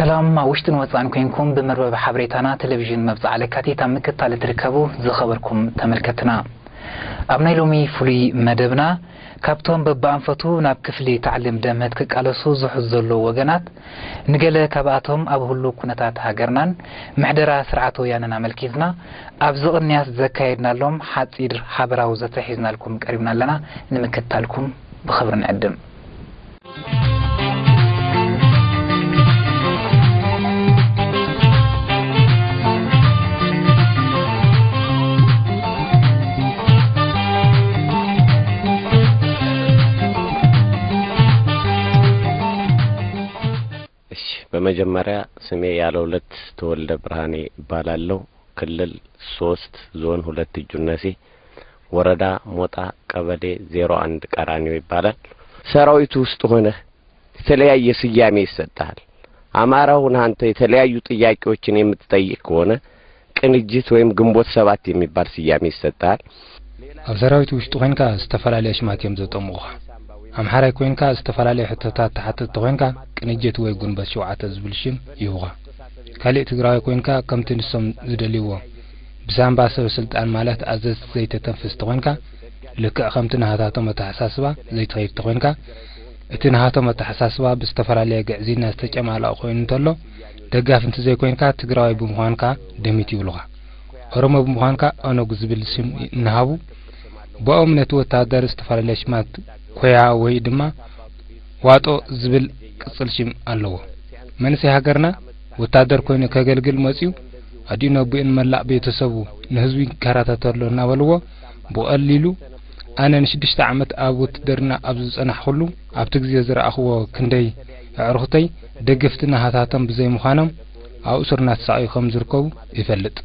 ሰላም ኣብ ውሽጥን ወጻእን ኮንኩም ብመርበብ ሓበሬታና ቴሌቪዥን መብጽዓ ለካቲት ኣብ ምክትታል እትርከቡ ዝኸበርኩም ተመልከትና። ኣብ ናይ ሎሚ ፍሉይ መደብና ካብቶም በብኣንፈቱ ናብ ክፍሊ ታዕሊም ደምህት ክቃለሱ ዝሑዝ ዘለዉ ወገናት ንገለ ካብኣቶም ኣብ ህሉው ኩነታት ሃገርናን ምሕደራ ስርዓት ወያነን ኣመልኪትና ኣብዚ ቅንያት ዘካየድናሎም ሓጺር ሓበራዊ ዘተ ሒዝናልኩም ቀሪብና ኣለና። ንምክትታልኩም ብኽብሪ ንዕድም። እሺ፣ በመጀመሪያ ስሜ ያለሁለት ተወልደ ብርሃኔ እባላለሁ። ክልል ሶስት ዞን ሁለት እጁነሴ ወረዳ ሞጣ ቀበሌ ዜሮ አንድ ቀራኒዮ ይባላል። ሰራዊቱ ውስጥ ሆነህ የተለያየ ስያሜ ይሰጥሃል። አማራ ሆነህ አንተ የተለያዩ ጥያቄዎችን የምትጠይቅ ከሆነ ቅንጅት ወይም ግንቦት ሰባት የሚባል ስያሜ ይሰጥሃል። ኣብ ሰራዊት ውሽጢ ኮይንካ ዝተፈላለየ ሽማት እዮም ዘጠምቑኻ። ኣምሓራይ ኮይንካ ዝተፈላለየ ሕቶታት ትሓትት ተኾይንካ ቅንጅት ወይ ጉንበት ሸውዓተ ዝብል ሽም ይህቡኻ። ካሊእ ትግራዋይ ኮይንካ ከምቲ ንሶም ዝደልይዎ ብሳንባ ሰበ ስልጣን ማለት ኣዘዝቲ ዘይተተንፍስ ተኾይንካ ልክዕ ከምቲ ናሃታቶም ኣተሓሳስባ ዘይትኸይድ ተኾይንካ እቲ ናሃቶም ኣተሓሳስባ ብዝተፈላለየ ግዕዝይና ዝተጨማለቐ ኮይኑ እንተሎ ደጋፊ እንተዘይኮይንካ ትግራዋይ ብምዃንካ ደሚት ይብሉኻ። ኦሮሞ ብምዃንካ ኦነግ ዝብል ሽም እናሃቡ ብኦም ነቲ ወተሃደር ዝተፈላለየ ሽማት ኮያ ወይ ድማ ዋጦ ዝብል ቅጽል ሽም ኣለዎ። መንእሰይ ሃገርና ወታደር ኮይኑ ከገልግል መጺኡ ኣዲኡ ነቡኡን መላእ ቤተሰቡ ንህዝቡ ይከራተት ኣሎ እናበልዎ ብቐሊሉ ኣነ ንሽዱሽተ ዓመት ኣብ ውትድርና ኣብ ዝጸናሕኩሉ ኣብቲ ግዜ ዝረኣኽዎ ክንደይ ኣዕሩኽተይ ደገፍቲ ናሃታቶም ብዘይምዃኖም ኣብ እሱር እናተሳቐዩ ከም ዝርከቡ ይፈልጥ።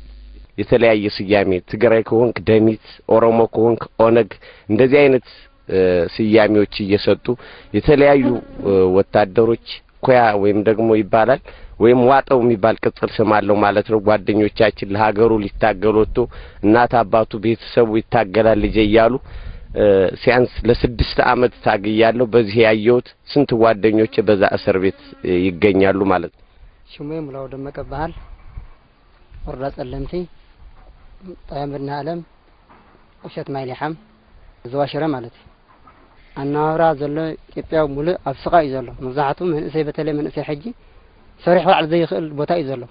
የተለያየ ስያሜ ትግራይ ከሆንክ ደሚት፣ ኦሮሞ ከሆንክ ኦነግ፣ እንደዚህ አይነት ስያሜዎች እየሰጡ የተለያዩ ወታደሮች ኮያ ወይም ደግሞ ይባላል ወይም ዋጠው የሚባል ቅጽል ስም አለው ማለት ነው። ጓደኞቻችን ለሀገሩ ሊታገል ወጥቶ እናት አባቱ ቤተሰቡ ይታገላል ልጄ እያሉ ሲያንስ ለስድስት አመት ታግያለሁ። በዚህ ያየሁት ስንት ጓደኞቼ በዛ እስር ቤት ይገኛሉ ማለት ነው። ሽሜ ሙላው ደመቀ እበሃል። ወረዳ ጸለምቲ፣ ጣብያ መድኃኔዓለም፣ ቁሸት ማይሊሓም፣ ዞባ ሽረ ማለት እዩ። ኣነባብራ ዘሎ ኢትዮጵያ ሙሉእ ኣብ ስቓይ እዩ ዘሎ። መብዛሕትኡ መንእሰይ፣ በተለይ መንእሰይ ሕጂ ሰሪሑ ክልዓል ዘይኽእል ቦታ እዩ ዘሎ።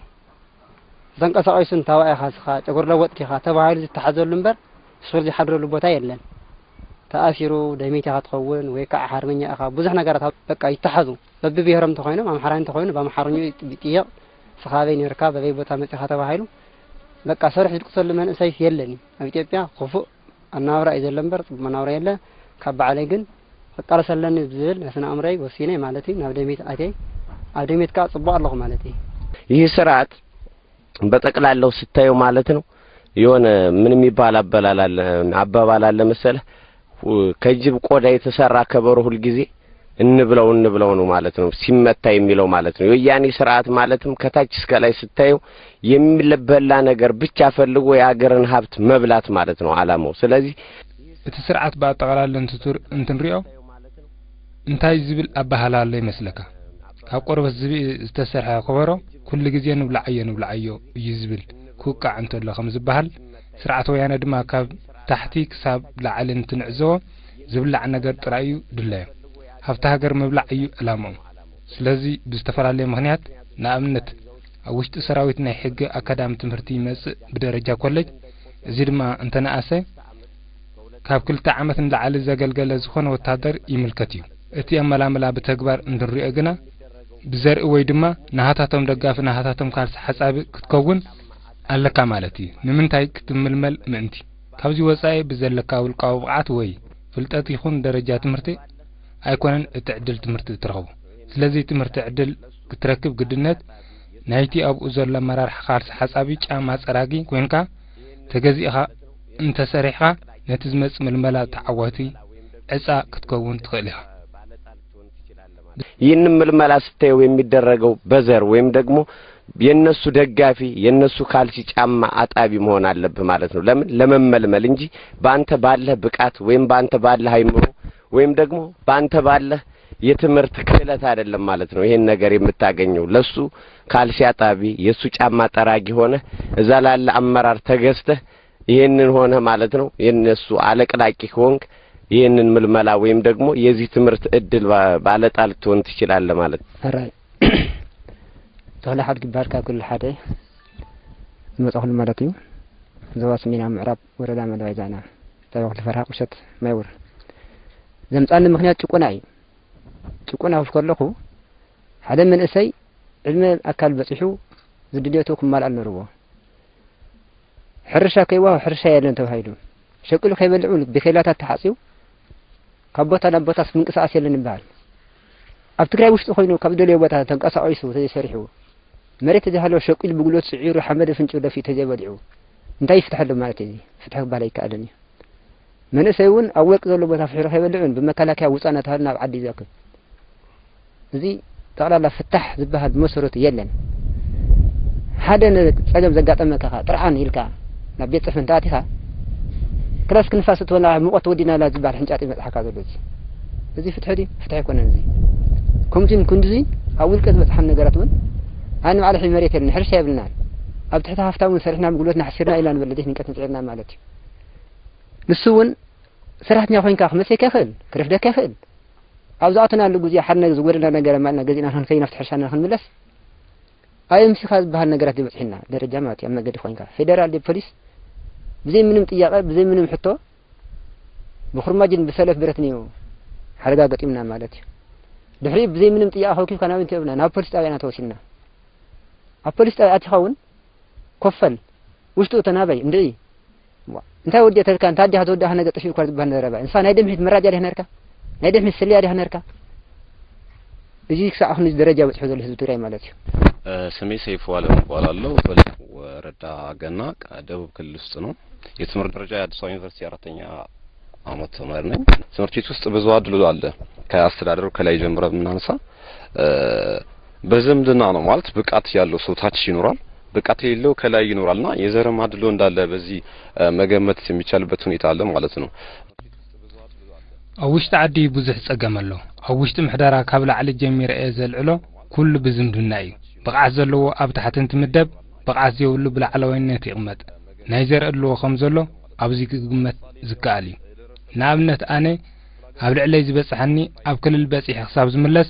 ተንቀሳቒሱ እንታዋይ ኢኻ እስኻ፣ ጨጉሪ ለወጥኪ ኢኻ ተባሂሉ ዝተሓዘሉ እምበር ስሩር ዝሓድረሉ ቦታ የለን። ተኣሲሩ ደሚት ኢኻ ትኸውን ወይ ከዓ ሓርበኛ ኢኻ፣ ብዙሕ ነገራት በቃ ይተሓዙ። በብብሄሮም እንተኾይኖም ኣምሓራይ እንተኾይኑ ብኣምሓርኝኡ ይጥየቕ። ንስኻ ኣበይ ነይርካ፣ በበይ ቦታ መጺኻ ተባሂሉ በቃ ሰሪሑ ዝድቅሰሉ መንእሰይ የለን እዩ። ኣብ ኢትዮጵያ ክፉእ ኣነባብራ እዩ ዘሎ እምበር ጽቡቕ መናብራ የለ። ካብ ባዕለይ ግን ክቃለስ ኣለኒ ብዝብል ናይ ስነ ኣእምሮይ ወሲነ ማለት እዩ ናብ ደሚት ኣትየ። ኣብ ደሚት ከኣ ጽቡቕ ኣለኹ ማለት እዩ። ይህ ስርዓት በጠቅላላው ስታየው ማለት ነው የሆነ ምን የሚባል አበላል አለ አባባል አለ መሰለህ ከጅብ ቆዳ የተሰራ ከበሮ ሁልጊዜ እንብለው እንብለው ነው ማለት ነው ሲመታ የሚለው ማለት ነው። የወያኔ ስርዓት ማለትም ከታች እስከ ላይ ስታየው የሚበላ ነገር ብቻ ፈልጎ የሀገርን ሀብት መብላት ማለት ነው አላማው። ስለዚህ እቲ ስርዓት ብኣጠቓላሊ እንትንሪኦ እንታይ ዝብል ኣበሃህላ ኣሎ ይመስለካ? ካብ ቆርበት ዝብኢ ዝተሰርሐ ከበሮ ኩሉ ግዜ ንብላዓዮ ንብላዓዮ እዩ ዝብል ክውቃዕ እንተሎ ከም ዝበሃል ስርዓት ወያነ ድማ ካብ ታሕቲ ክሳብ ላዕሊ እንትንዕዘቦ ዝብላዕ ነገር ጥራይ እዩ ድላዮም። ሃብቲ ሃገር ምብላዕ እዩ ዕላምኦም። ስለዚ ብዝተፈላለየ ምኽንያት ንኣብነት ኣብ ውሽጢ ሰራዊት ናይ ሕጊ ኣካዳሚ ትምህርቲ ይመጽእ ብደረጃ ኮሌጅ፣ እዚ ድማ እንተነኣሰ ካብ ክልተ ዓመት ንላዕሊ ዘገልገለ ዝኾነ ወታደር ይምልከት እዩ። እቲ ኣመላምላ ብተግባር እንትንሪኦ ግና ብዘርኢ ወይ ድማ ናሃታቶም ደጋፊ ናሃታቶም ካልሲ ሓጻቢ ክትከውን ኣለካ ማለት እዩ። ንምንታይ ክትምልመል ምእንቲ። ካብዚ ወጻኢ ብዘለካ ውልቃዊ ብቕዓት ወይ ፍልጠት ይኹን ደረጃ ትምህርቲ ኣይኮነን እቲ ዕድል ትምህርቲ እትረኽቦ። ስለዚ ትምህርቲ ዕድል ክትረክብ ግድነት ናይቲ ኣብኡ ዘሎ ኣመራርሓ ካልሲ ሓጻቢ ጫማ ጸራጊ ኮይንካ ተገዚእኻ እንተሰሪሕኻ ነቲ ዝመጽእ ምልመላ ተዓዋቲ ዕጻ ክትከውን ትኽእል ኢኻ። ይህንን ምልመላ ስታየው የሚደረገው በዘር ወይም ደግሞ የነሱ ደጋፊ የነሱ ካልሲ ጫማ አጣቢ መሆን አለብህ ማለት ነው። ለምን ለመመልመል እንጂ በአንተ ባለህ ብቃት ወይም በአንተ ባለህ አይምሮ ወይም ደግሞ በአንተ ባለህ የትምህርት ክህለት አይደለም ማለት ነው። ይሄን ነገር የምታገኘው ለሱ ካልሲ አጣቢ፣ የሱ ጫማ ጠራጊ ሆነ እዛ ላለ አመራር ተገዝተህ ይሄንን ሆነ ማለት ነው። የነሱ አለቅላቂ ከሆንክ ይህንን ምልመላ ወይም ደግሞ የዚህ ትምህርት እድል ባ-፣ ባለጣ ልትሆን ትችላለህ ማለት ነው። ሕራይ ተኽለ ሓድጊ ይበሃል፣ ካብ ክልል ሓደ ዝመጻኹሉ ማለት እዩ። ዞባ ሰሜናዊ ምዕራብ ወረዳ መደባይ ዛና፣ ጣብያ ክልተ ፈርሃ ቁሸት ማይውር። ዘምጻኒ ምኽንያት ጭቆና እዩ። ጭቆና ክፍ ከለኹ ሓደ መንእሰይ ዕድመ ኣካል በጺሑ ዝድልየቱ ክማልኣል ነርዎ። ሕርሻ ከይዋ ሕርሻ የለን ተባሂሉ፣ ሸቂሉ ከይበልዑ ብኬላታት ተሓጽዩ ካብ ቦታ ናብ ቦታ ምንቅስቃስ የለን ይበሃል። ኣብ ትግራይ ውሽጢ ኮይኑ ካብ ደልዮ ቦታ ተንቀሳቂሱ ተዘይሰሪሑ፣ መሬት ተዘይሃለዎ ሸቂሉ ብጉልበት ስዒሩ ሓመድ ፍንጭ ደፊኡ ተዘይበሊዑ እንታይ ይፍትሐሉ ማለት እዩ? ፍትሒ ክበሃል ኣይከኣልን እዩ። መንእሰይ እውን ኣብ ወርቂ ዘሎ ቦታ ፍሒሩ ከይበልዕን ብመከላከያ ውፃእ እናተባህለ ናብ ዓዲ ይዘክብ። እዚ ጠቕላላ ፍታሕ ዝበሃል ብመሰረቱ የለን። ሓደ ነ-፣ ጸገም ዘጋጠመካ ጥርዓን ኢልካ ናብ ቤት ጽሕፈት እንተኣቲኻ፣ ክላስ ክንፋስ እትበላ ሙቐት ወዲናላ ዝበሃል ሕንጫጥ ይመጽሓካ ዘሎ። እዚ፣ እዚ ፍትሒ ድዩ? ፍትሒ ኣይኮነን። እዚ ከምዚን ክንድዚ ኣብ ውልቀ ዝበጽሓን ነገራት እውን ኣነ ባዕለ ሕጂ መሬት የለን፣ ሕርሻ የብልናን። ኣብ ትሕቲ ሃፍታም እውን ሰሪሕና ብጉልበትና ሓሲርና ኢልና ንበል፣ ለይትን ቀትርን ጽዒርና ማለት እዩ። ንሱ እውን ሰራሕተኛ ኮይንካ ክመጽየካ ይኽእል፣ ክረፍደካ ይኽእል። ኣብ ዝኣተናሉ ግዜ ሓደ ነገር ዝጎደና ነገር ኣማልና ገዚእና ክንከይድ ናብቲ ሕርሻና ክንምለስ፣ ኣይኤምሲኻ ዝበሃል ነገራት ዝበጽሕና ደረጃ ማለት እዩ። ኣብ መገዲ ኮይንካ ፌደራል ድዩ ፖሊስ ብዘይ ምንም ጥያቐ፣ ብዘይ ምንም ሕቶ ብኹርማጅን ብሰለፍ ብረትን እዩ ሓደጋ ገጢምና ማለት እዩ። ድሕሪኡ ብዘይ ምንም ጥያቐ ከውኪብካ ናብ እንታይ ብና ናብ ፖሊስ ጣብያ ኢና ተወሲድና። ኣብ ፖሊስ ጣብያ ኣቲኻ እውን ኮፈል ውሽጡ ተናበይ እንድዒ። ዋ፣ እንታይ ወዲእተልካ? እንታይ ኣዲኻ ተወዲእካ ነገ ጠፊኡ እኳ ዝበሃል ዘረባ። ንስኻ ናይ ድምሒት መራጃ ዲኻ ነርካ? ናይ ድምሒት ስልያ ዲኻ ነርካ? እዚ ክሳዕ ክንዚ ደረጃ በጺሑ ዘሎ ህዝቢ ትግራይ ማለት እዩ። እ፣ ስሜ ሰይፉ አለም እባላለሁ። በለስ ወረዳ ገና፣ ቃ-፣ ደቡብ ክልል ውስጥ ነው። የትምህርት ደረጃ የአዲስ አበባ ዩኒቨርሲቲ አራተኛ አመት ተማሪ ነኝ። ትምህርት ቤት ውስጥ ብዙ አድሎ አለ። ከአስተዳደሩ ከላይ ጀምረ ብናነሳ፣ እ፣ በዝምድና ነው ማለት ብቃት ያለው ሰው ታች ይኖራል፣ ብቃት የሌለው ከላይ ይኖራልና የዘርም አድሎ እንዳለ በዚህ፣ እ፣ መገመት የሚቻልበት ሁኔታ አለ ማለት ነው። ኣብ ውሽጢ ዓዲ ብዙሕ ጸገም ኣሎ። ኣብ ውሽጢ ምሕደራ ካብ ላዕሊ ጀሚረ እየ ዘልዕሎ፣ ኩሉ ብዝምድና እዩ። ብቕዓት ዘለዎ ኣብ ታሕቲ እንትምደብ፣ ብቕዓት ዘይብሉ ብላዕለዋይነት ይቕመጥ። ናይ ዘርኢ ኣለዎ ከም ዘሎ ኣብዚ ክግመት ዝከኣል እዩ። ንኣብነት ኣነ ኣብ ልዕለይ ዝበጽሓኒ ኣብ ክልል በጺሐ ክሳብ ዝምለስ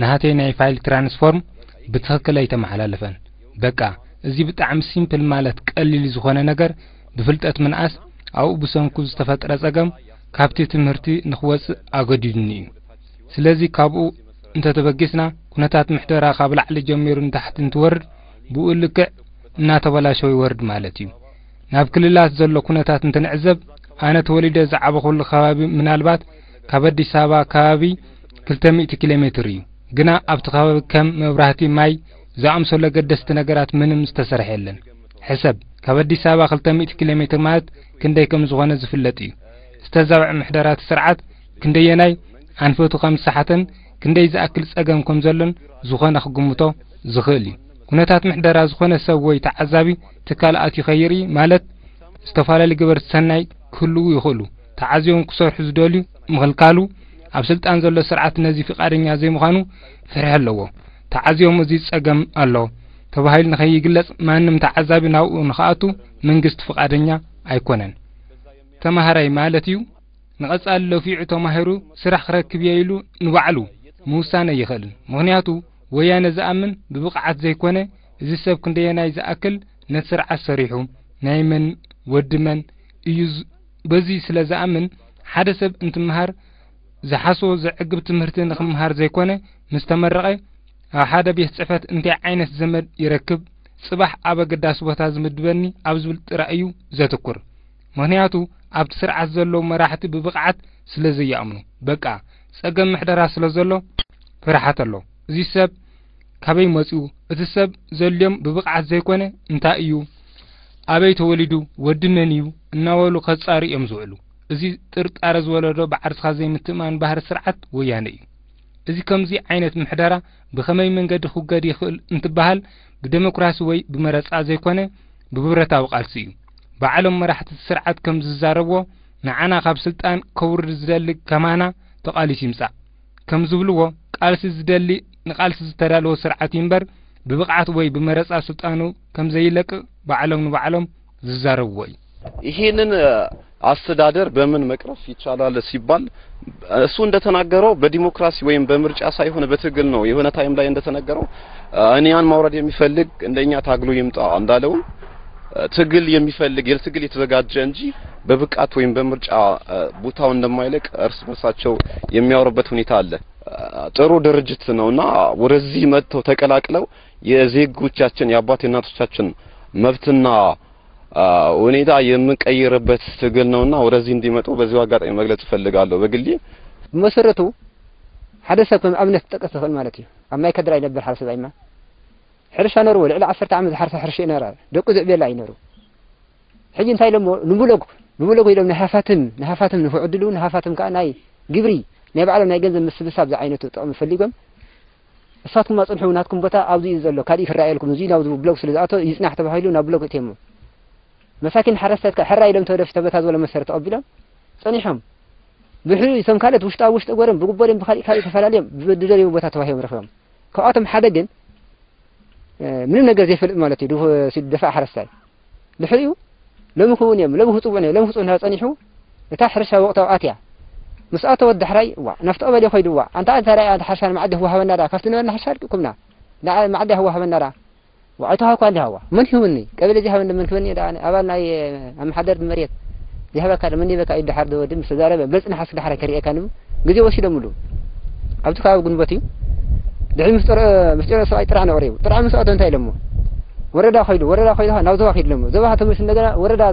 ናሃተይ ናይ ፋይል ትራንስፎርም ብትኽክል ኣይተመሓላለፈን። በቃ እዚ ብጣዕሚ ሲምፕል ማለት ቀሊል ዝኾነ ነገር ብፍልጠት ምንኣስ ኣብኡ ብሰንኩ ዝተፈጥረ ጸገም ካብቲ ትምህርቲ ንኽወጽእ ኣገዲዱኒ እዩ። ስለዚ ካብኡ እንተተበጊስና ኩነታት ምሕደራ ካብ ላዕሊ ጀሚሩ ንታሕቲ እንትወርድ ብኡ ልክዕ እናተበላሸወ ይወርድ ማለት እዩ። ናብ ክልላት ዘሎ ኩነታት እንትንዕዘብ ኣነ ተወሊደ ዝዓበኹሉ ከባቢ ምናልባት ካብ ኣዲስ ኣበባ ከባቢ ክልተ ሚእቲ ኪሎ ሜትር እዩ። ግና ኣብቲ ከባቢ ከም መብራህቲ፣ ማይ ዝኣምሰሉ ኣገደስቲ ነገራት ምንም ዝተሰርሐ የለን። ሕሰብ፣ ካብ ኣዲስ ኣበባ ክልተ ሚእቲ ኪሎ ሜትር ማለት ክንደይ ከም ዝኾነ ዝፍለጥ እዩ። ዝተዛብዐ ምሕደራቲ ስርዓት ክንደየናይ ኣንፈቱ ከም ዝሰሓተን ክንደይ ዝኣክል ጸገም ከም ዘሎን ዝኾነ ክግምቶ ዝኽእል እዩ። ኩነታት ምሕደራ ዝኾነ ሰብ ወይ ተዓዛቢ ትካል ኣትዩ ከይርኢ ማለት ዝተፈላለዩ ገበርቲ ሰናይ ክህልዉ ይኽእሉ። ተዓዝዮም ክሰርሑ ዝደልዩ ምኽልካሉ ኣብ ስልጣን ዘሎ ስርዓት ነዚ ፍቓደኛ ዘይምዃኑ ፍርሒ ኣለዎ። ተዓዝዮም እዚ ጸገም ኣሎ ተባሂሉ ንኸይግለጽ ማንም ተዓዛቢ ናብኡ ንኽኣቱ መንግስቲ ፍቓደኛ ኣይኮነን። ተማሃራይ ማለት እዩ ንቐጻሊ ለፊዑ ተማሂሩ ስራሕ ክረክብ እየ ኢሉ ንባዕሉ ምውሳን ኣይኽእልን። ምኽንያቱ ወያነ ዝኣምን ብብቕዓት ዘይኮነ እዚ ሰብ ክንደየናይ ዝኣክል ነቲ ስርዓት ሰሪሑ ናይ መን ወዲ መን እዩ ዝ-፣ በዚ ስለ ዝኣምን ሓደ ሰብ እንትምሃር ዝሓስቦ ዘዕግብ ትምህርቲ ንክምሃር ዘይኮነ ምስ ተመረቐ ኣብ ሓደ ቤት ጽሕፈት እንታይ ዓይነት ዘመድ ይረክብ ጽባሕ ኣብ ኣገዳሲ ቦታ ዝምድበኒ ኣብ ዝብል ጥራይ እዩ ዘትኩር። ምኽንያቱ ኣብቲ ስርዓት ዘለዉ መራሕቲ ብብቕዓት ስለ ዘይኣምኑ። በቃ ጸገም ምሕደራ ስለ ዘሎ ፍርሓት ኣሎ። እዚ ሰብ ካበይ መጺኡ? እቲ ሰብ ዘልዮም ብብቕዓት ዘይኮነ እንታይ እዩ? ኣበይ ተወሊዱ? ወዲ መን እዩ? እናበሉ ከጻሩ እዮም ዝውዕሉ። እዚ ጥርጣረ ዝወለዶ ብዓርስኻ ዘይምትእማን ባህሪ ስርዓት ወያነ እዩ። እዚ ከምዚ ዓይነት ምሕደራ ብኸመይ መንገዲ ክውገድ ይኽእል እንትበሃል ብደሞክራሲ ወይ ብመረጻ ዘይኮነ ብብረታዊ ቃልሲ እዩ። ባዕሎም መራሕቲ እቲ ስርዓት ከም ዝዛረብዎ ንዓና ካብ ስልጣን ከውርድ ዝደሊ ከማና ተቓሊሱ ይምጻእ። ከም ዝብልዎ፣ ቃልሲ ዝደሊ ንቃልሲ ዝተዳለወ ስርዓት እዩ እምበር፣ ብብቕዓት ወይ ብመረጻ ስልጣኑ ከም ዘይለቅቕ ባዕሎም ንባዕሎም ዝዛረብዎ እዩ። ይሄንን አስተዳደር በምን መቅረፍ ይቻላል ሲባል፣ እሱ እንደተናገረው በዲሞክራሲ ወይም በምርጫ ሳይሆን በትግል ነው። የሆነ ታይም ላይ እንደተነገረው እኔ ያን ማውረድ የሚፈልግ እንደኛ ታግሎ ይምጣ እንዳለው፣ ትግል የሚፈልግ፣ የትግል የተዘጋጀ እንጂ በብቃት ወይም በምርጫ ቦታው እንደማይለቅ እርስ በርሳቸው የሚያወሩበት ሁኔታ አለ። ጥሩ ድርጅት ነውና ወደዚህ መጥተው ተቀላቅለው የዜጎቻችን፣ የአባት የእናቶቻችን መብትና ሁኔታ የምንቀይርበት ትግል ነውና ወደዚህ እንዲመጡ በዚሁ አጋጣሚ መግለጽ እፈልጋለሁ። በግሌ ብመሰረቱ ሓደ ሰብ ከም ኣብነት ክጠቀስ ዝኽእል ማለት እዩ። ኣብ ማይ ከድራ ይነብር ሓደ ሰብኣይማ ሕርሻ ነርዎ፣ ልዕሊ ዓሰርተ ዓመት ዝሓርሳ ሕርሻ ይነራ፣ ደቁ ዝዕብየላ ይነሩ። ሕጂ እንታይ ኢሎሞ? ንብሎግ፣ ንብሎግ ኢሎም ንሃፋትም፣ ንሃፋትም ንኽዕድሉ፣ ንሃፋትም ከኣ ናይ ግብሪ፣ ናይ ባዕሎም ናይ ገንዘብ ምስብሳብ ዝዓይነቱ ጥቕሚ ፈሊጎም፣ እሳትኩም ኣጽንሑ፣ ናትኩም ቦታ ኣብዚ እዩ ዘሎ፣ ካልእ ክረኣየልኩም፣ እዚ ናብዚ ብሎግ ስለ ዝኣቶ ይጽናሕ ተባሂሉ ናብ ብሎግ እትዮሞ። መሳኪን ሓረስታት ከኣ ሕራይ ኢሎም ተወደፊ ተበታ ዝበሎ መሰረት ተቐቢሎም ጸኒሖም። ብሕሪኡ እቶም ካልኦት ውሽጣ ውሽጢ ጎሮም ብጉቦ ድዮም ብኻሊእ ካልእ ተፈላልዮም ብዝደልይዎ ቦታ ተዋሂቦም ረኺቦም። ካብኣቶም ሓደ ግን ምንም ነገር ዘይፈልጥ ማለት እዩ። ድፉ- ደፋእ ሓረስታይ ድሕሪኡ ሎሚ ክውን እዮም፣ ሎሚ ክጽውዑ እዮም፣ ሎሚ ክጽውዑ እንዳ ጸኒሑ እታ ሕርሻ ወቕታዊ ኣትያ ምስ ኣተወት ዳሕራይ ዋ ናብቲ ቀበሌ ኮይዱ ዋ ኣንታ እንታይ ዳኣ ሓርሻ ንመዓዲ ክወሃበና ዳ ካብቲ ነበርና ሕርሻ ኣልቂኩምና ዳ መዓዲ ክወሃበና ዳ ዋ ኣይተዋሃኳ እንዲ ሃዋ መን ክህብኒ ቀበሌ ዘይሃበኒ መን ክህበኒ ዳ ኣባል ናይ ኣመሓደር መሬት ዝሃበካ ዶ መን ይበካ እዩ ድሓር ዶ ወዲ ምስ ተዛረበ በልጽ ንሓስ ድሓር ከርእየካ ንቡ ግዜ ወሲዶምሉ ኣብቲ ከባቢ ጉንበት እዩ ድሕሪ ምስጢሮ ምስጢሮ ሰብኣይ ጥራሕ ነቕሪቡ ጥራሕ ምስ ኣቶ እንታይ ኢሎሞ ወረዳ ከይዱ ወረዳ ከይዱ ናብ ዞባ ከይዱ ኢሎሞ ዞባ ተመልሱ እንደገና ወረዳ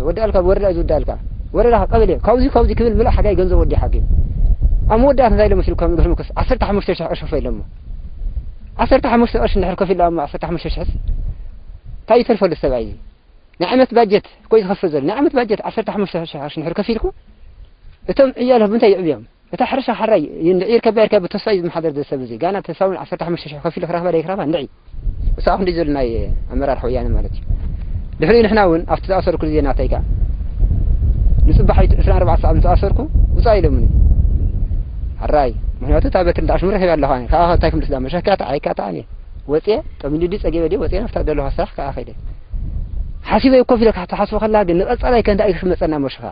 ወዲ ኣልካ ወረዳ እዩ ዝወዲ ኣልካ ወረዳ ቀበሌ ካብዚ ካብዚ ክብል ምልእ ሓጋይ ገንዘብ ወዲ ሓቂ ኣብ መወዳእታ እንታይ ኢሎሞ ሲሉ ከም ድሕሪ ምክስ ዓሰርተ ሓሙሽተ ሺሕ ቅርሺ ክፈ ኢሎሞ ዓሰርተ ሓሙሽተ ቅርሺ እንድሕር ከፊሉ ኣሞ ዓሰርተ ሓሙሽተ ሺሕስ እንታይ ይተርፈሉ ሰብኣይ ናይ ዓመት ባጀት እኮ እዩ ዝኸፍል ዘሎ ናይ ዓመት ባጀት ዓሰርተ ሓሙሽተ ሺሕ ቅርሺ እንድሕር ከፊልኩ እቶም ዕያል ብምንታይ ይዕብዮም እታ ሕርሻ ሓራይ እንድዒ ይርከባ ይርከባ ብተስፋ እዩ ዝመሓደር ዘሎ ሰብ እዚ ጋና ተስፋ እውን ዓሰርተ ሓሙሽተ ሺሕ ከፊሉ ክረኽባ ደይክረኽባ እንድዒ እሳ ክንዲ ዘሎ ናይ ኣመራርሓ ወያነ ማለት እዩ ድሕሪኡ ንሕና እውን ኣብቲ ዝኣሰርኩ ግዜ ናተይ ከዓ ንፅባሕ ዕስራን ኣርባዕተ ሰዓት ምስ ኣሰርኩ ውፃእ ኢሎምኒ ሓራይ ምክንያቱ እታ በትሪ እንዳዕሽሙ ረኺበ ኣለኹ ኣነ ከዓ እንታይ ክምልስ ዳ መሸካ ተዓይካ ተዓኒ ወፅየ ጠሚዱ ድዩ ፀጊበ ድዩ ወፅየ ናብታ ዘለኹ ስራሕ ከዓ ከይደ ሓሲበ ኮፍ ኢለ ክትሓስቦ ከላ ግን ንቐፃላይ ከ እንታይ እዩ ክመፀና መሽኻ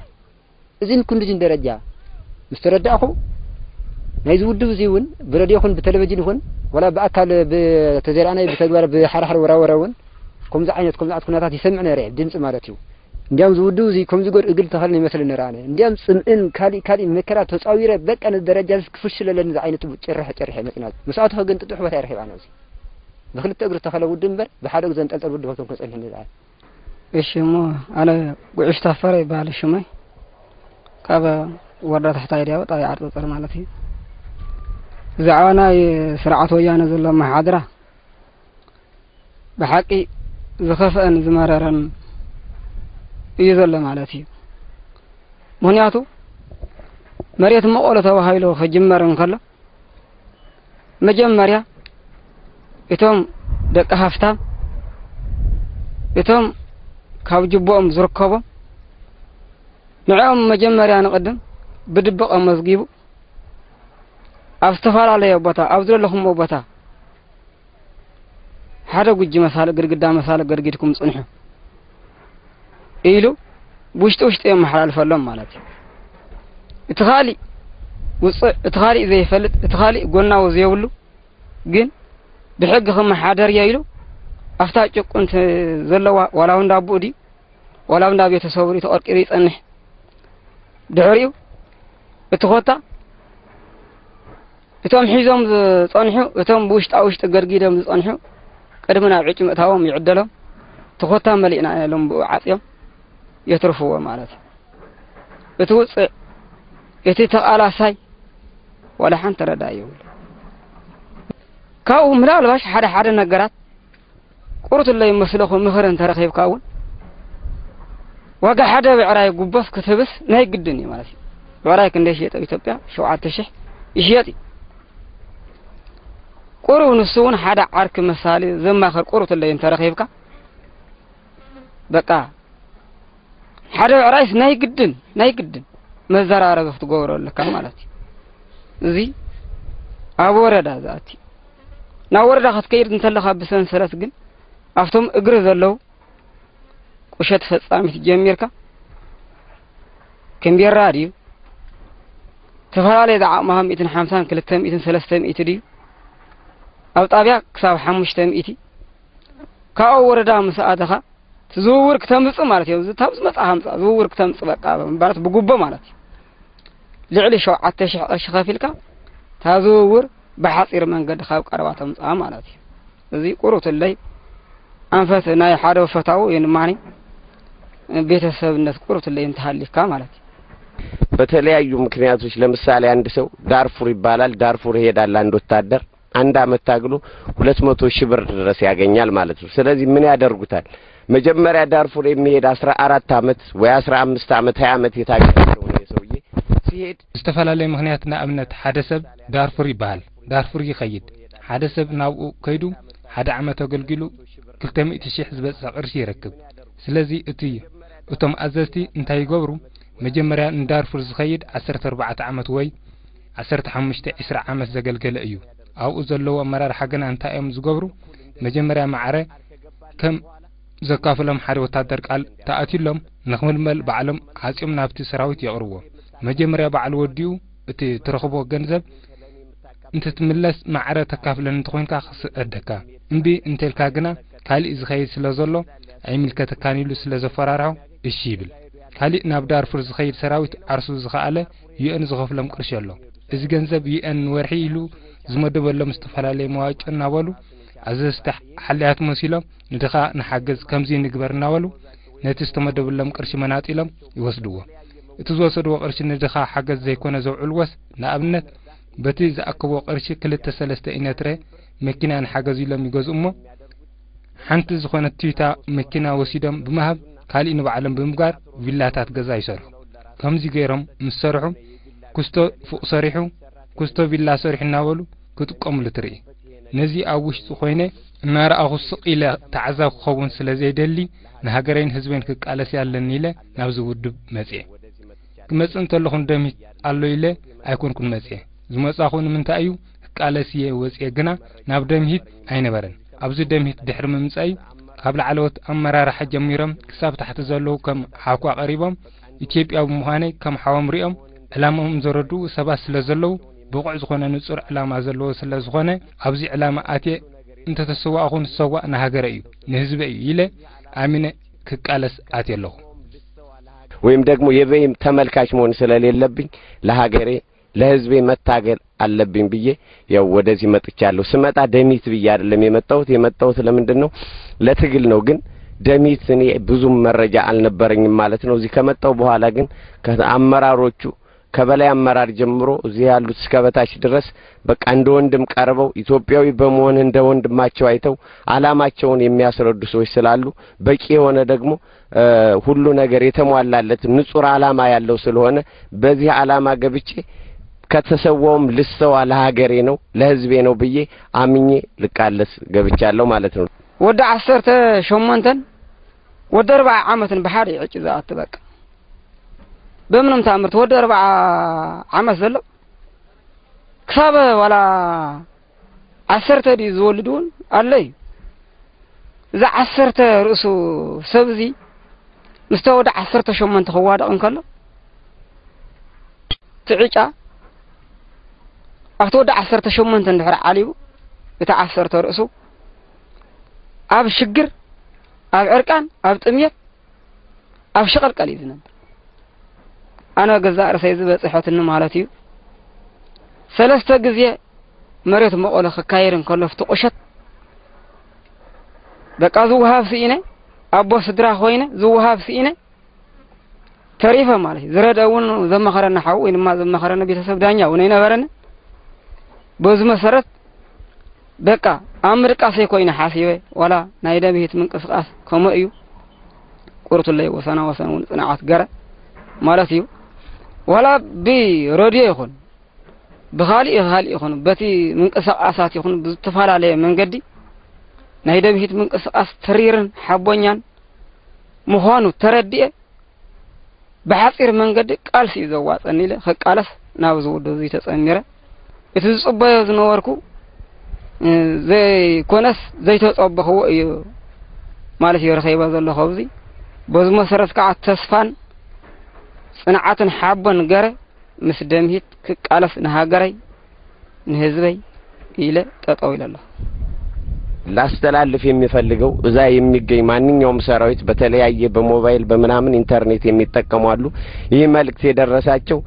እዚን ክንድዚን ደረጃ ምስ ተረዳእኹ ናይዚ ውድብ እዚ እውን ብረድዮ ይኹን ብቴሌቪዥን ይኹን ዋላ ብኣካል ብተዘይረኣናዮ ብተግባር ብሓራሕር ወራወረ እውን ከምዚ ዓይነት ከምዚ ዓይነት ኩነታት ይሰምዕ ነይረ ድምፂ ማለት እዩ እንዲያም ዝውድብ እዚ ከምዚ ጎድ እግል ተኸልን ይመስል ነራነ እንዲያም ፅምእን ካሊእ ካሊእ መከራ ተፃዊረ በቃ ነዚ ደረጃ እዚ ክፍሽለለኒ ዝዓይነቱ ጭርሕ ጭርሕ መፅና ምስኣቱ ግን ጥጡሕ ቦታ ይረኺብ ኣነ እዚ ብክልተ እግሪ ተኸለ ውድብ እምበር ብሓደ እግሪ ዘንጠልጠል ውድብ ከቶም ከፀንሕ ንዝዓል እሺ እሞ ኣነ ጉዕሽ ታፈረ ይበሃል ሽመይ ካብ ወረዳ ታሕታይ ዲያቦ ጣብያ ዓርፀፀር ማለት እዩ ብዛዕባ ናይ ስርዓት ወያነ ዘሎ መሓድራ ብሓቂ ዝኸፍአን ዝመረረን እዩ ዘሎ ማለት እዩ ምክንያቱ መሬት መቐሎ ተባሂሉ ክጅመር እንከሎ መጀመርያ እቶም ደቂ ሃፍታም እቶም ካብ ጅቦኦም ዝርከቦም ንዕኦም መጀመርያ ንቕድም ብድብቕ ኣመዝጊቡ ኣብ ዝተፈላለየ ቦታ ኣብ ዝደለኹምዎ ቦታ ሓደ ጉጂ መሳልእ ግድግዳ መሳልእ ገድጊድኩም ጽንሑ ኢሉ ብውሽጢ ውሽጢ የመሓላልፈሎም ማለት እዩ። እቲ ካሊእ ውፅዕ እቲ ካሊእ ዘይፈልጥ እቲ ካሊእ ጎናዊ ዘይብሉ ግን ብሕጊ ክመሓደር እየ ኢሉ ኣብታ ጭቁንቲ ዘለዋ ዋላ እውን ዳቦኡ ድዩ ዋላ እውን ዳ ቤተሰቡ ድዩ ተቐርቂሩ ይፀንሕ። ድሕሪኡ እቲ ኮታ እቶም ሒዞም ዝጸንሑ እቶም ብውሽጣ ውሽጢ ገርጊዶም ዝጸንሑ ቅድሚ ናብ ዕጭ ምእታዎም ይዕደሎም ተኾታ መሊእና ኢሎም ብኡ ዓጽዮም የትርፍዎ ማለት እዩ። እቲ ውጽዕ እቲ ተቓላሳይ ዋላ ሓንቲ ረዳ የብሉ። ካብኡ ምናልባሽ ሓደ ሓደ ነገራት ቁርትለይ መስለኹ ምኽሪ እንተረኺብካ እውን ዋጋ ሓደ ብዕራይ ጉቦስ ክትህብስ ናይ ግድን እዩ ማለት እዩ። ብዕራይ ክንደይ ሽየጥ ኣብ ኢትዮጵያ? ሸውዓተ ሽሕ ይሽየጥ እዩ። ቁሩብ ንሱ እውን ሓደ ዓርኪ መሳሊ ዘማኽር ቁርትለይ እንተረኺብካ በቃ ሓደ ብዕራይስ ናይ ግድን ናይ ግድን መዘራረቢ ክትገብሮ ኣለካ ማለት እዩ። እዚ ኣብ ወረዳ ዝኣቲ። ናብ ወረዳ ክትከይድ እንተለኻ ብሰንሰለት ግን ኣብቶም እግሪ ዘለዉ ቁሸት ፈጻሚት ጀሚርካ ከምቤራ ድዩ? ተፈላለየ ዝዓቕምኻ ሚእትን ሓምሳን ክልተ ሚእትን ሰለስተ ሚእቲ ድዩ? ኣብ ጣብያ ክሳብ ሓሙሽተ ሚእቲ። ካብኡ ወረዳ ምስ ኣተኻ እቲ ዝውውር ክተምጽእ ማለት እዩ። እዚ ታብ ዝመጽእ ሃምጻ ዝውውር ክተምጽእ በቃ ማለት ብጉቦ ማለት እዩ። ልዕሊ ሸውዓተ ሽሕ ቅርሺ ከፊልካ እታ ዝውውር ብሓጺር መንገዲ ካብ ቀረባ ተምጽኣ ማለት እዩ። እዚ ቁሩትለይ ኣንፈት ናይ ሓደ ፈታው የንማኒ ቤተሰብነት ቁሩትለይ እንተሃሊካ ማለት እዩ። በተለያዩ ምክንያቶች ለምሳሌ አንድ ሰው ዳርፉር ይባላል። ዳርፉር ይሄዳል። አንድ ወታደር አንድ አመት ታግሎ ሁለት መቶ ሺህ ብር ድረስ ያገኛል ማለት ነው። ስለዚህ ምን ያደርጉታል? መጀመሪያ ዳርፉር የሚሄድ አስራ አራት አመት ወይ አስራ አምስት አመት ሃያ አመት የታገለ ሰው ነው። የሰውዬ ሲሄድ ዝተፈላለየ ምክንያት፣ ንኣብነት ሓደ ሰብ ዳርፉር ይበሃል። ዳርፉር ይኸይድ። ሓደ ሰብ ናብኡ ከይዱ ሓደ ዓመት ኣገልጊሉ ክልተ ሚእቲ ሺሕ ዝበጽሕ ቅርሺ ይረክብ። ስለዚ እቲ እቶም ኣዘዝቲ እንታይ ይገብሩ? መጀመርያ ንዳርፉር ዝኸይድ ዓሰርተ ኣርባዕተ ዓመት ወይ ዓሰርተ ሓሙሽተ ዒስራ ዓመት ዘገልገለ እዩ። ኣብኡ ዘለዉ ኣመራርሓ ግና እንታይ እዮም ዝገብሩ? መጀመርያ ማዕረ ከም ዘካፍሎም ሓደ ወታደር ቃል ተኣትዩሎም ንኽምልመል ባዕሎም ዓጽዮም ናብቲ ሰራዊት የቕርብዎ። መጀመርያ ባዕሉ ወዲኡ እቲ ትረኽቦ ገንዘብ እንትትምለስ ማዕረ ተካፍለኒ እንተኾይንካ ክስዕደካ፣ እምቢ እንተልካ ግና ካሊእ ዝኸይድ ስለ ዘሎ ኣይምልከተካን ኢሉ ስለ ዘፈራርሖ እሺ ይብል። ካሊእ ናብ ዳርፉር ዝኸይድ ሰራዊት ዓርሱ ዝኸኣለ ዩኤን ዝኸፍሎም ቅርሺ ኣሎ። እዚ ገንዘብ ዩኤን ንወርሒ ኢሉ ዝመደበሎም ዝተፈላለየ መዋጮ እናበሉ ኣዘዝቲ ሓልያት መሲሎም ንድኻ ንሓገዝ ከምዚ ንግበር እናበሉ ነቲ ዝተመደበሎም ቅርሺ መናጢሎም ይወስድዎ። እቲ ዝወሰድዎ ቅርሺ ንድኻ ሓገዝ ዘይኮነ ዘውዕልዎስ ንኣብነት በቲ ዝኣከብዎ ቅርሺ ክልተ ሰለስተ ኢነትረ መኪና ንሓገዝ ኢሎም ይገዝኡ እሞ ሓንቲ ዝኾነት ቱይታ መኪና ወሲዶም ብምሃብ ካሊእ ንባዕሎም ብምግባር ቪላታት ገዛ ይሰርሑ። ከምዚ ገይሮም ምስ ሰርሑ ኩስቶ ፉቕ ሰሪሑ ኩስቶ ቪላ ሰሪሑ እናበሉ ክጥቀምሉ ትርኢ። ነዚ ኣብ ውሽጢ ኮይነ እናረኣኹ ስቕ ኢለ ተዓዛቢ ክኸውን ስለ ዘይደሊ ንሃገረይን ህዝበይን ክቃለስ ኣለኒ ኢለ ናብዚ ውድብ መፅየ። ክመፅእ እንተለኹ ንደምሂት ኣሎ ኢለ ኣይኮንኩን መፅየ። ዝመፃኹ ንምንታይ እዩ ክቃለስ እየ ወፅየ ግና ናብ ደምሂት ኣይነበረን። ኣብዚ ደምሂት ድሕሪ ምምፃእ እዩ ካብ ላዕለዎት ኣመራርሓ ጀሚሮም ክሳብ ታሕቲ ዘለዉ ከም ሓኳ ቀሪቦም ኢትዮጵያዊ ብምዃነይ ከም ሓዎም ሪኦም ዕላምኦም ዘረድኡ ሰባት ስለ ዘለዉ ብቑዕ ዝኾነ ንፁር ዕላማ ዘለዎ ስለ ዝኾነ ኣብዚ ዕላማ ኣትየ እንተተሰዋእኹ ንሰዋእ ንሃገረ እዩ ንህዝበ እዩ ኢለ ኣሚነ ክቃለስ ኣትየ ኣለኹ። ወይም ደግሞ የበይም ተመልካች መሆን ስለሌለብኝ ለሀገሬ ለህዝቤ መታገል ኣለብኝ ብዬ ያው ወደዚህ መጥቻለሁ። ስመጣ ደሚት ብዬ አይደለም የመጣሁት። የመጣሁት ለምንድን ነው? ለትግል ነው። ግን ደሚት እኔ ብዙም መረጃ አልነበረኝም ማለት ነው። እዚህ ከመጣሁ በኋላ ግን ከአመራሮቹ ከበላይ አመራር ጀምሮ እዚህ ያሉት እስከ በታች ድረስ በቃ እንደ ወንድም ቀርበው ኢትዮጵያዊ በመሆን እንደ ወንድማቸው አይተው አላማቸውን የሚያስረዱ ሰዎች ስላሉ በቂ የሆነ ደግሞ ሁሉ ነገር የተሟላለት ንጹር አላማ ያለው ስለሆነ በዚህ አላማ ገብቼ ከተሰዋውም ልሰዋ ለሀገሬ ነው ለህዝቤ ነው ብዬ አምኜ ልቃለስ ገብቻለሁ ማለት ነው። ወዲ ዓሰርተ ሸሞንተን ወዲ ኣርባዓ ዓመትን ብሓደ እዩ ዕጭ ዝኣቱ። በቃ ብምንም ተኣምር እቲ ወዲ ኣርባዓ ዓመት ዘሎ ክሳብ ዋላ ዓሰርተ ድዩ ዝወልድ እውን ኣሎ እዩ። እዚ ዓሰርተ ርእሱ ሰብ እዚ ምስታ ወዲ ዓሰርተ ሸሞንተ ክዋደቕ እንከሎ እቲ ዕጫ ኣብቲ ወዲ ዓሰርተ ሸሞንተ እንድሕር ዓሊቡ እቲ ዓሰርተ ርእሱ ኣብ ሽግር ኣብ ዕርቃን ኣብ ጥምየት ኣብ ሸቐልቀል እዩ ዝነብር። ኣነ ገዛእ ርእሰይ ዝበፅሐትኒ ማለት እዩ። ሰለስተ ግዜ መሬት መቐሎ ክካየድ እንከሎ ኣብቲ ቁሸት በቃ ዝወሃብ ስኢነ ኣቦ ስድራ ኮይነ ዝወሃብ ስኢነ ተሪፈ ማለት እዩ። ዝረደ እውን ዘመኸረኒ ሓው ወይ ድማ ዘመኸረኒ ቤተሰብ ዳኛ እውን ኣይነበረኒ። በዚ መሰረት በቃ ኣብ ምድቃሰይ ኮይነ ሓሲበ ዋላ ናይ ደምሂት ምንቅስቃስ ከምኡ እዩ። ቁርቱለይ ወሰና ወሰን እውን ፅንዓት ገረ ማለት እዩ። ዋላ ብረድዮ ይኹን ብኻሊእ ብኻሊእ ይኹን በቲ ምንቅስቃሳት ይኹን ብዝተፈላለየ መንገዲ ናይ ደምሂት ምንቅስቃስ ተሪርን ሓቦኛን ምዃኑ ተረዲኤ ብሓፂር መንገዲ ቃልሲ እዩ ዘዋፀኒ ኢለ ክቃለስ ናብ ዝውድብ እዚ ተፀሚረ። እቲ ዝጽበዮ ዝነበርኩ ዘይኮነስ ዘይተጸበኽዎ እዩ ማለት እዩ ረኸይባ ዘለኹ ኣብዚ። በዚ መሰረት ከዓ ተስፋን ጽንዓትን ሓቦን ገረ ምስ ደምሂት ክቃለስ ንሃገረይ ንህዝበይ ኢለ ጠጠው ኢለ ኣለኹ። ላስተላልፍ የሚፈልገው እዛ የሚገኝ ማንኛውም ሰራዊት በተለያየ በሞባይል በምናምን ኢንተርኔት የሚጠቀሙ አሉ። ይህ መልእክት የደረሳቸው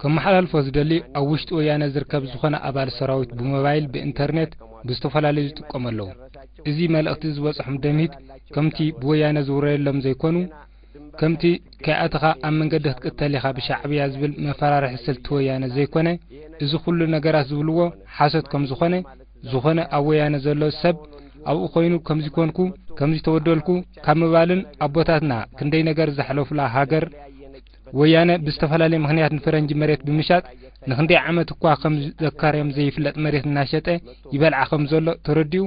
ከመሓላልፎ ዝደሊ ኣብ ውሽጢ ወያነ ዝርከብ ዝኾነ ኣባል ሰራዊት ብሞባይል ብኢንተርኔት ብዝተፈላለዩ ዝጥቀሙ ኣለዉ። እዚ መልእኽቲ ዝበፅሖም ደምሂት ከምቲ ብወያነ ዝውረየሎም ዘይኮኑ ከምቲ ከይኣተኻ ኣብ መንገዲ ክትቅተል ኢኻ ብሻዕብያ ዝብል መፈራርሒ ስልቲ ወያነ ዘይኮነ፣ እዚ ኩሉ ነገራት ዝብልዎ ሓሶት ከም ዝኾነ፣ ዝኾነ ኣብ ወያነ ዘሎ ሰብ ኣብኡ ኮይኑ ከምዚ ኮንኩ፣ ከምዚ ተበደልኩ ካብ ምባልን ኣቦታትና ክንደይ ነገር ዘሕለፉላ ሃገር ወያነ ብዝተፈላለየ ምኽንያት ንፈረንጂ መሬት ብምሻጥ ንኽንደይ ዓመት እኳ ከም ዘካርዮም ዘይፍለጥ መሬት እናሸጠ ይበልዓ ከም ዘሎ ተረዲኡ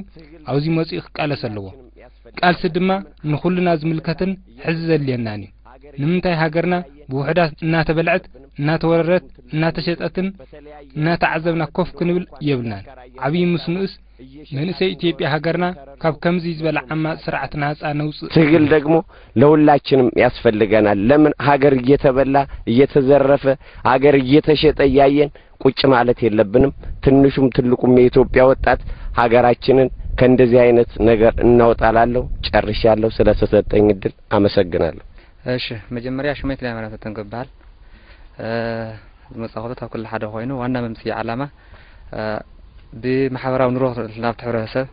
ኣብዚ መፂኡ ክቃለስ ኣለዎ። ቃልሲ ድማ ንኹልና ዝምልከትን ሕዚ ዘድልየናን እዩ። ንምንታይ ሃገርና ብውሑዳት እናተበልዐት፣ እናተወረረት፣ እናተሸጠትን እናተዓዘብና ኮፍ ክንብል የብልናን። ዓብዪ ምስ ንኡስ መንእሰይ ኢትዮጵያ ሃገርና ካብ ከምዚ ዝበለ ዓማፅ ስርዓት ናፃ ነውፅእ። ትግል ደግሞ ለሁላችንም ያስፈልገናል። ለምን ሀገር እየተበላ እየተዘረፈ ሀገር እየተሸጠ እያየን ቁጭ ማለት የለብንም። ትንሹም ትልቁም የኢትዮጵያ ወጣት ሀገራችንን ከእንደዚህ አይነት ነገር እናውጣ እላለሁ። ጨርሻለሁ። ስለተሰጠኝ እድል አመሰግናለሁ። እሺ፣ መጀመርያ ሽመይ ክላይ ማለት ተንክባል ዝመጻኹ ካብ ኩሉ ሓደ ኮይኑ ዋና መምጽኢ ዓላማ ብማሕበራዊ ኑሮ ናብቲ ሕብረተሰብ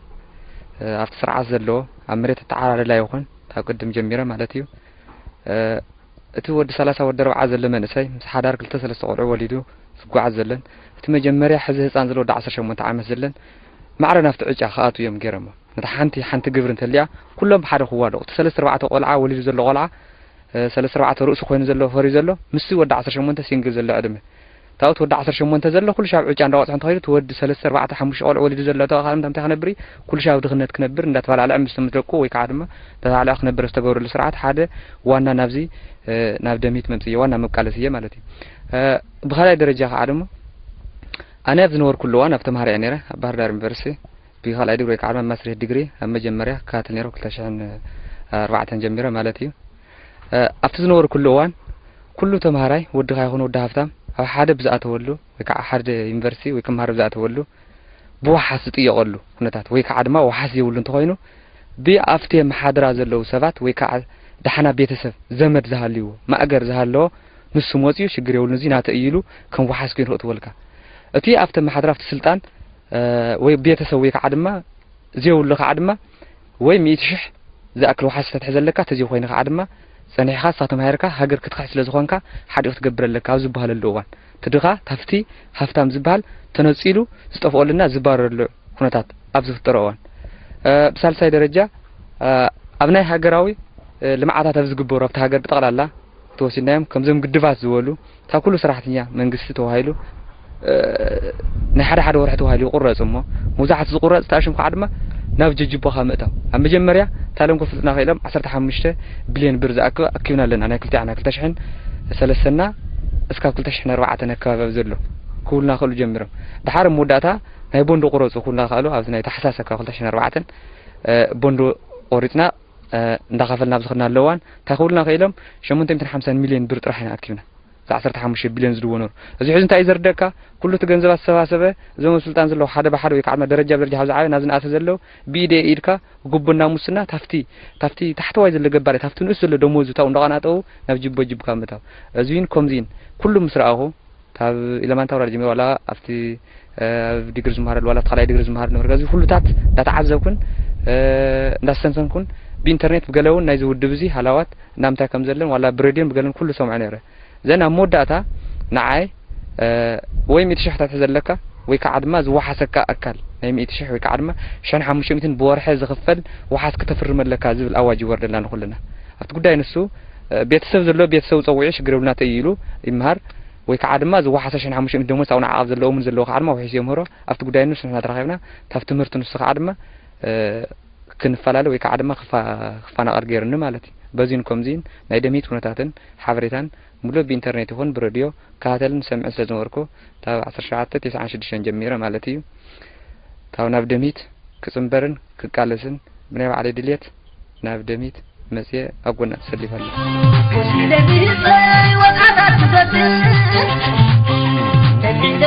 ኣብቲ ስርዓት ዘለዎ ኣብ መሬት ኣተዓራርላ ይኹን ካብ ቅድም ጀሚረ ማለት እዩ። እቲ ወዲ ሰላሳ ወዲ ኣርብዓ ዘሎ መንእሰይ ምስ ሓዳር ክልተ ሰለስተ ቆልዑ ወሊዱ ዝጓዓዝ ዘለን፣ እቲ መጀመርያ ሕዚ ህፃን ዘሎ ወዲ ዓሰርተ ሸሞንተ ዓመት ዘለን ማዕረ ናብቲ ዕጫ ክኣትዉ እዮም ገይሮሞ። ነታ ሓንቲ ሓንቲ ግብሪ እንተልያ ኩሎም ብሓደ ክዋደቑ። እቲ ሰለስተ ኣርባዕተ ቆልዓ ወሊዱ ዘሎ ቆልዓ ሰለስተ ኣርባዕተ ርእሱ ኮይኑ ዘሎ ፈርዩ ዘሎ ምስቲ ወዲ ዓሰርተ ሸሞንተ ሲንግል ዘሎ ዕድመ ታውት ወዲ ዓሰርተ ሸሞንተ ዘሎ ኩሉ ሻብ ዕጫ እንዳወፅሐ እንተኸይዱ እቲ ወዲ ሰለስተ ኣርባዕተ ሓሙሽተ ቆልዑ ወሊዱ ዘሎ ተባኻል እንታይ ክነብር እዩ? ኩሉ ሻብ ድኽነት ክነብር እንዳተባላዕለ ምስ ምስ ደቁ ወይ ከዓ ድማ ተባላዕ ክነብር ዝተገብረሉ ስርዓት ሓደ ዋና ናብዚ ናብ ደሚት መምፅእ ዋና መቃለስ እየ ማለት እዩ። ብኻልኣይ ደረጃ ከዓ ድማ ኣነ ኣብ ዝነበርኩሉ እዋን ኣብ ተምሃሪ እየ ነይረ ኣብ ባህር ዳር ዩኒቨርሲቲ ብኻልኣይ ዲግሪ ወይ ከዓ ድማ ማስትሬት ዲግሪ ኣብ መጀመርያ ክከታተል ነይረ ክልተ ሽሕን ኣርባዕተን ጀሚረ ማለት እዩ። ኣብቲ ዝነበርኩሉ እዋን ኩሉ ተምሃራይ ወድኻ ይኹን ወዲ ሃፍታም ኣብ ሓደ ብዝኣተወሉ ወይ ከዓ ሓደ ዩኒቨርሲቲ ወይ ክምሃር ብዝኣተወሉ ብወሓስ ዝጥየቐሉ ኩነታት ወይ ከዓ ድማ ወሓስ የብሉ እንተኾይኑ ብኣብቲ መሓድራ ዘለዉ ሰባት ወይ ከዓ ዳሕና ቤተሰብ ዘመድ ዝሃልዎ ማእገር ዝሃለዎ ንሱ መፅኡ ሽግር የብሉን እዚ ናተ እዩ ኢሉ ከም ወሓስ ኮይኑ ክእትወልካ እቲ ኣብቲ መሓድራ ኣብቲ ስልጣን ወይ ቤተሰብ ወይ ከዓ ድማ ዘይብሉ ከዓ ድማ ወይ ሚእቲ ሽሕ ዝኣክል ወሓስ ተትሕዘለካ ተዘይ ኮይነ ከዓ ድማ ጸኒሕኻ ንሳ ተማሂርካ ሃገር ክትክሕስ ስለ ዝኾንካ ሓዲኡ ክትገብር ኣለካ ኣብ ዝበሃለሉ እዋን እቲ ድኻ ታፍቲ ሃፍታም ዝበሃል ተነጺሉ ዝጠፍኦልና ዝባረረሉ ኩነታት ኣብ ዝፍጠሮ እዋን ብሳልሳይ ደረጃ ኣብ ናይ ሃገራዊ ልምዓታት ኣብ ዝግበሩ ኣብቲ ሃገር ብጠቕላላ ተወሲድናዮም ከምዞም ግድባት ዝበሉ እታ ኩሉ ሰራሕተኛ መንግስቲ ተባሂሉ ናይ ሓደ ሓደ ወርሒ ተባሂሉ ይቁረፅ እሞ መብዛሕቲ ዝቁረፅ ተኣሽም ከዓ ድማ ናብ ጀጅቦኻ ምእታው ኣብ መጀመርያ ታለም ክፍልጥና ክኢሎም ዓሰርተ ሓሙሽተ ቢልዮን ብር ዝኣክብ ኣኪብና ኣለና ናይ ክልቲዓና ክልተ ሽሕን ሰለስተና እስካብ ክልተ ሽሕን ኣርባዕተን ኣከባቢ ዘሎ ክብሉና ክእሉ ጀሚሮም ድሓር መወዳእታ ናይ ቦንዶ ቁረፁ ክብሉና ክኣሉ ኣብዚ ናይ ታሕሳስ ኣከባቢ ክልተ ሽሕን ኣርባዕተን ቦንዶ ቆሪፅና እንዳኸፈልና ኣብዚ ክና ኣለዋን እንታይ ክብሉና ክኢሎም ሸሞንተ ሚእትን ሓምሳን ሚልዮን ብር ጥራሕ ኢና ኣኪብና እዚ ዓሰርተ ሓሙሽተ ቢልዮን ዝድዎ ነሩ እዚ ሕዚ እንታይ እዩ ዘርደካ ኩሉ እቲ ገንዘብ ኣሰባሰበ እዞም ኣብ ስልጣን ዘለዉ ሓደ ብሓደ ወይ ከዓ ደረጃ ብደረጃ ካብ ዝዓበ ናብዚ ንኣተ ዘለዉ ብኢደ ኢድካ ጉቡና ሙስና ታፍቲ ታፍቲ ታሕተዋይ ዘሎ ገባሪ ታፍቲ ንእስ ዘሎ ደሞዙ ታው እንዳቐናጠው ናብ ጅቦ ጅብካ ምታው እዚን ከምዚን ኩሉ ምስ ረኣኹ ካብ ኢለማንታ ወራድ ጀሚሩ ዋላ ኣብቲ ኣብ ዲግሪ ዝመሃረሉ ዋላ ካልኣይ ዲግሪ ዝመሃር ነበር እዚ ኩሉታት እንዳተዓዘብኩን እንዳስተንተንኩን ብኢንተርኔት ብገለ እውን ናይዚ ውድብ እዚ ሃላዋት እንዳምንታይ ከም ዘለን ዋላ ብሬድዮን ብገለን ኩሉ ሰምዖ ነይረ ዘን ኣብ መወዳእታ ንዓይ ወይ ሚእቲ ሽሕ ተትሕዘለካ ወይ ከዓ ድማ ዝወሓሰካ ኣካል ናይ ሚእቲ ሽሕ ወይ ከዓ ድማ ሽሕን ሓሙሽተ ሚእትን ብወርሒ ዝኽፈል ወሓስ ክተፍርም ኣለካ ዝብል ኣዋጅ ይወርደልና ንኩልና ኣብቲ ጉዳይ ንሱ ቤተሰብ ዘሎ ቤተሰብ ፀዊዑ ሽግር የብልና ተይ ኢሉ ይምሃር ወይ ከዓ ድማ ዝወሓሰ ሽሕን ሓሙሽተ ሚእቲ ደሞዝ ኣብኡ ንዓቐብ ዘለዎም ዘለዉ ከዓ ድማ ውሒሱ የምህሮ ኣብቲ ጉዳይ ንሱ ንሕና ተራኺብና ካብ ትምህርቲ ንሱ ከዓ ድማ ክንፈላለ ወይ ከዓ ድማ ክፋናቐል ገይሩኒ ማለት እዩ በዚን ከምዚን ናይ ደምሂት ኩነታትን ሓበሬታን ሙሉእ ብኢንተርኔት ይኹን ብረድዮ ከታተልን ሰምዕን ስለ ዝነበርኩ፣ ካብ ዓሰርተ ሸውዓተ ተስዓን ሽዱሽተን ጀሚረ ማለት እዩ፣ ካብ ናብ ደምሂት ክጽንበርን ክቃለስን ብናይ ባዕለይ ድልየት ናብ ደምሂት መጽየ ኣብ ጎና ተሰሊፈ ኣለኹ። ደምሂት ወጣታት ትፈጥር፣ ደምሂት